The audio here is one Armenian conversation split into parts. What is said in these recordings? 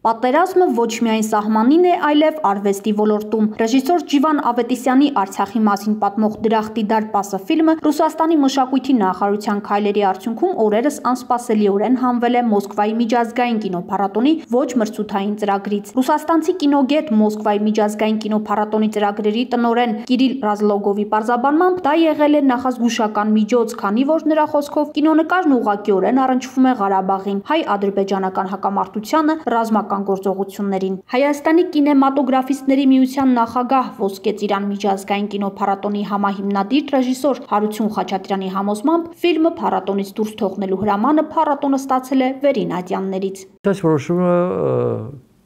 Պատերազմը ոչ միայն սահմանին է, այլև արվեստի ոլորտում։ Ռեժիսոր Ջիվան Ավետիսյանի Արցախի մասին պատմող «Դրախտի դարպասը» ֆիլմը Ռուսաստանի մշակույթի նախարարության քայլերի արդյունքում օրերս անսպասելիորեն հանվել է Մոսկվայի միջազգային կինոփառատոնի ոչ մրցութային ծրագրից։ Ռուսաստանցի կինոգետ Մոսկվայի միջազգային կինոփառատոնի ծրագրերի տնօրեն Կիրիլ Ռազլոգովի պարզաբանմամբ դա եղել է նախազգուշական միջոց, քանի որ նրա խոսքով կինոնկարն ուղղակիորեն առնչվում է Ղարաբաղին, հայ-ադրբեջանական հակամարտությանը, ռազմական գործողություններին։ Հայաստանի կինեմատոգրաֆիստների միության նախագահ Ոսկե ծիրան միջազգային կինոփառատոնի համահիմնադիր ռեժիսոր Հարություն Խաչատրյանի համոզմամբ ֆիլմը փառատոնից դուրս թողնելու հրամանը փառատոնը ստացել է Վերին Ատյաններից։ Այս որոշումը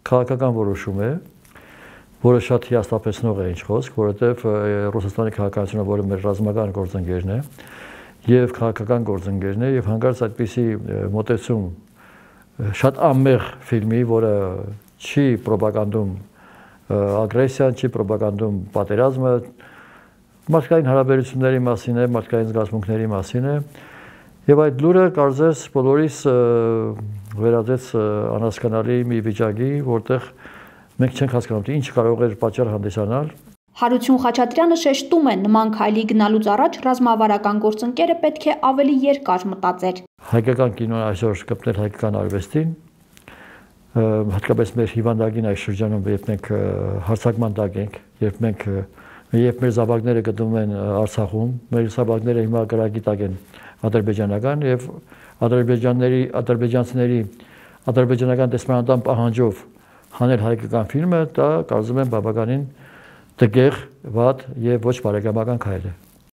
քաղաքական որոշում է, որը շատ հիասթափեցնող է ինչ խոսք, որովհետև Ռուսաստանի քաղաքականությունը, որը մեր ռազմական գործընկերն է եւ քաղաքական գործընկերն է, եւ հանկարծ այդպիսի մոտեցում շատ անմեղ ֆիլմի, որը չի պրոպագանդում ագրեսիան, չի պրոպագանդում պատերազմը, մարդկային հարաբերությունների մասին է, մարդկային զգացմունքների մասին է, եւ այդ լուրը կարծես բոլորիս վերածեց անհասկանալի մի վիճակի, որտեղ մենք չենք հասկանում, թե ինչ կարող էր պատճառ հանդիսանալ։ Հարություն Խաչատրյանը շեշտում է, նման քայլի գնալուց առաջ ռազմավարական գործընկերը պետք է ավելի երկար մտածեր։ Հայկական կինոն այսօր կպնել հայկական արվեստին, հատկապես մեր հիվանդագին այս շրջանում, երբ մենք հարձակման տակ ենք, երբ մեր զավակները գտնվում են Արցախում, մեր զավակները հիմա կրակի տակ են ադրբեջանական եւ ադրբեջանցիների ադրբեջանական դեսպանատան պահանջով հանել հայկական ֆիլմը, դա կարծում եմ բավականին տգեղ, վատ եւ ոչ բարեկամական քայլ է։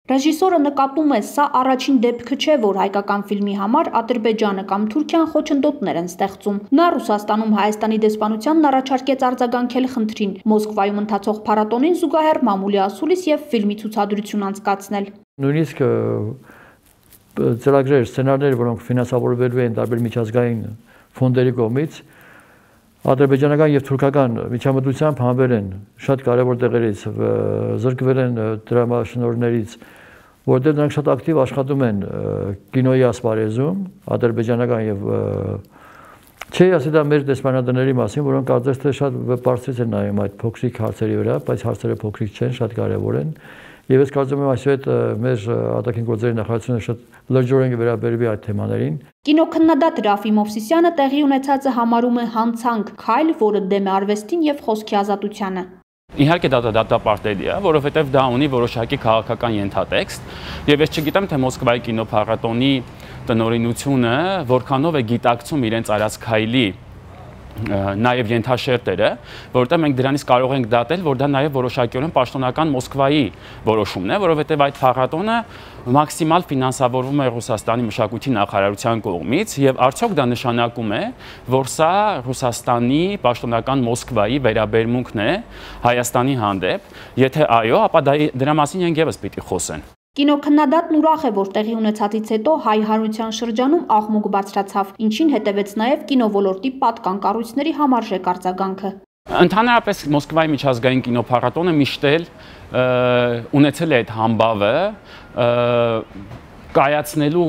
Ռեժիսորը նկատում է, սա առաջին դեպքը չէ, որ հայկական ֆիլմի համար Ադրբեջանը կամ Թուրքիան խոչընդոտներ են ստեղծում։ Նա Ռուսաստանում Հայաստանի դեսպանությանն առաջարկեց արձագանքել խնդրին, Մոսկվայում ընթացող փառատոնին զուգահեռ մամուլի ասուլիս եւ ֆիլմի ցուցադրություն անցկացնել։ Նույնիսկ ծրագրեր, սցենարներ, որոնք ֆինանսավորվելու են տարբեր միջազգային ֆոնդերի կողմից, ադրբեջանական եւ թուրքական միջամտությամբ հանվել են շատ կարևոր տեղերից, զրկվել են դրամաշնորհներից, որտեղ նրանք շատ ակտիվ աշխատում են կինոյի ասպարեզում, ադրբեջանական եւ չի ասի դա մեր դեսպանատների մասին, որոնք կարծես թե շատ բարձրից են նայում այդ փոքրիկ հարցերի վրա, բայց հարցերը փոքրիկ չեն, շատ կարևոր են։ Եվ ես կարծում եմ այսուհետ մեր արտաքին գործերի նախարարությունը շատ լրջորեն կվերաբերվի այդ թեմաներին։ Կինոքննադատ Ռաֆի Մովսիսյանը տեղի ունեցածը համարում է հանցանք, քայլ, որը դեմ է արվեստին եւ խոսքի ազատությանը։ Իհարկե դա դատապարտելի է, որովհետև դա ունի որոշակի քաղաքական ենթատեքստ, եւ ես չգիտեմ, թե Մոսկվայի կինոփառատոնի տնօրինությունը որքանով է գիտակցում իրենց արած քայլի նաև ենթաշերտերը, որովհետև մենք դրանից կարող ենք դատել, որ դա նաև որոշակիորեն պաշտոնական Մոսկվայի որոշումն է, որովհետև այդ փառատոնը մաքսիմալ ֆինանսավորվում է Ռուսաստանի մշակույթի նախարարության կողմից եւ արդյոք դա նշանակում է, որ սա Ռուսաստանի պաշտոնական Մոսկվայի վերաբերմունքն է Հայաստանի հանդեպ, եթե այո, ապա դրա մասին են եւս պիտի խոսեն։ Կինոքննադատն ուրախ է, որ տեղի ունեցածից հետո հայ հանրության շրջանում աղմուկ բարձրացավ, ինչին հետևեց նաև կինոլորտի պատկան կառույցների համարժեք արձագանքը։ Ընդհանրապես Մոսկվայի միջազգային կինոփառատոնը միշտ էլ ունեցել է այդ համբավը կայացնելու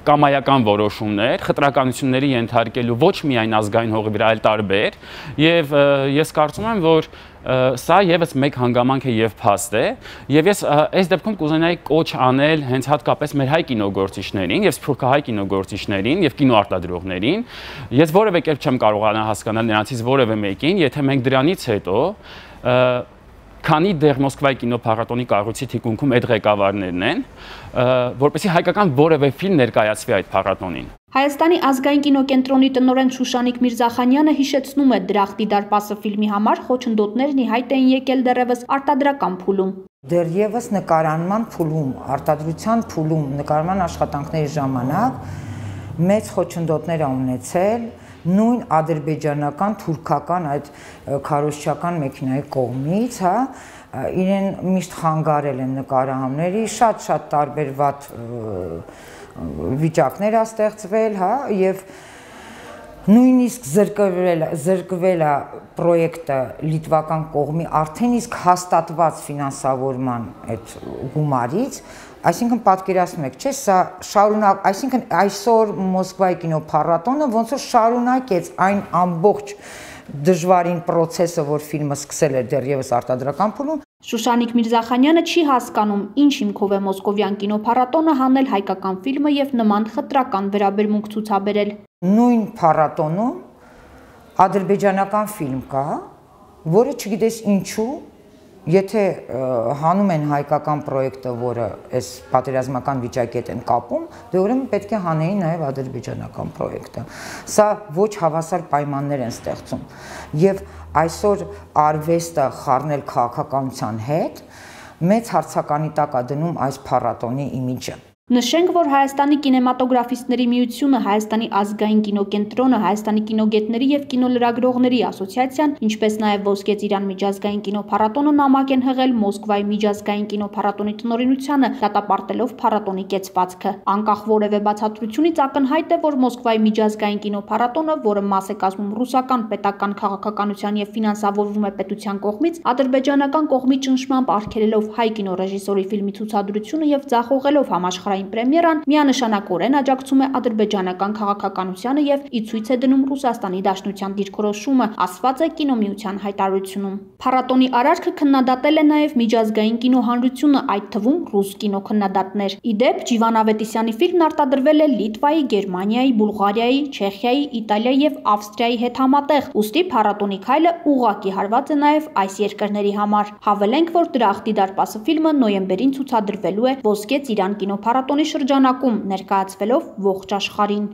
կամայական որոշումներ, խտրականությունների ենթարկելու ոչ միայն ազգային հողի վրա, այլ տարբեր, եւ ես կարծում եմ, որ սա եւս մեկ հանգամանք է եւ փաստ է, եւ ես այս դեպքում կուզենայի կոչ անել հենց հատկապես մեր հայ կինոգործիչներին եւ սփյուռքահայ կինոգործիչներին եւ կինոարտադրողներին։ Ես որևէ կերպ չեմ կարողանա հասկանալ նրանցից որևէ մեկին, եթե մենք դրանից հետո քանի դեռ Մոսկվայի կինոփառատոնի կառույցի թիկունքում այդ ղեկավարներն են, որպեսզի հայկական որևէ ֆիլմ ներկայացվի այդ փառատոնին։ Հայաստանի ազգային կինոկենտրոնի տնօրեն Շուշանիկ Միրզախանյանը հիշեցնում է Դրախտի դարպասը ֆիլմի համար խոչընդոտներն ի հայտ էին եկել դեռևս արտադրական փուլում։ Դեռևս նկարանման փուլում, արտադրության փուլում, նկարման աշխատանքների ժամանակ մեծ խոչընդոտներ ունեցել նույն ադրբեջանական, թուրքական այդ քարոզչական մեքենայի կողմից, հա, իրեն միշտ խանգարել են նկարահանումների, շատ տարբեր վատ վիճակներ ա ստեղծվել, հա, եւ նույնիսկ զրկվել է պրոյեկտը լիտվական կողմի արդեն իսկ հաստատված ֆինանսավորման այդ գումարից, այսինքն պատկերացնում եք, չէ՞, սա շարունակ, այսինքն այսօր Մոսկվայի կինոփառատոնը ոնց որ շարունակեց այն ամբողջ դժվարին process-ը, որ ֆիլմը սկսել էր դեռևս արտադրական փուլում։ Շուշանիկ Միրզախանյանը չի հասկանում, ինչ հիմքով է Մոսկովյան կինոփառատոնը հանել հայկական ֆիլմը եւ նման խտրական վերաբերմունք ցուցաբերել։ Նույն փառատոնում ադրբեջանական ֆիլմ կա, որը չգիտես ինչու, եթե հանում են հայկական պրոյեկտը, որը այս պատերազմական վիճակի հետ են կապում, դե ուրեմն պետք է հանեին նաև ադրբեջանական պրոյեկտը։ Սա ոչ հավասար պայմաններ են ստեղծում։ Եվ այսօր արվեստը խառնել քաղաքականության հետ մեծ հարցականի տակ է դնում այս փառատոնի իմիջը։ Նշենք, որ Հայաստանի կինեմատոգրաֆիստների միությունը, Հայաստանի ազգային կինոկենտրոնը, Հայաստանի կինոգետների եւ կինոլրագրողների ասոցիացիան, ինչպես նաեւ Ոսկե Ծիրան միջազգային կինոփառատոնը նամակ են հղել Մոսկվայի միջազգային կինոփառատոնի տնօրինությանը, դատապարտելով փառատոնի կեցվածքը։ Անկախ որևէ բացատրությունից ակնհայտ է, որ Մոսկվայի միջազգային կինոփառատոնը, որը մաս է կազմում ռուսական պետական քաղաքականության եւ ֆինանսավորվում է պետության կողմից, ադրբեջանական կողմի ճնշմամբ արգելելով հայ կինոռեժիսորի ֆիլմի ցուցադրությունը եւ ձախողելով համաշխարհային պրեմիերան, միանշանակորեն աջակցում է ադրբեջանական քաղաքականությանը եւ ի ցույց է դնում Ռուսաստանի Դաշնության դիրքորոշումը, ասված է կինոմիության հայտարարությունում։ Փառատոնի արարքը քննադատել է նաեւ միջազգային կինոհանրությունը, այդ թվում ռուս կինոքննադատներ։ Ի դեպ, Ջիվան Ավետիսյանի ֆիլմն արտադրվել է Լիտվայի, Գերմանիայի, Բուլղարիայի, Չեխիայի, Իտալիայի եւ Ավստրիայի հետ համատեղ, ուստի փառատոնի քայլը ուղղակի հարված է նաեւ այս երկրների համար։ Հավելենք, որ Դրախտի դարպասը ֆիլմը նոյեմբերին ցուցադրվելու է Ոսկե Ծիրան կինոփառատոնի շրջանակում, ներկայացվելով ողջ աշխարհին։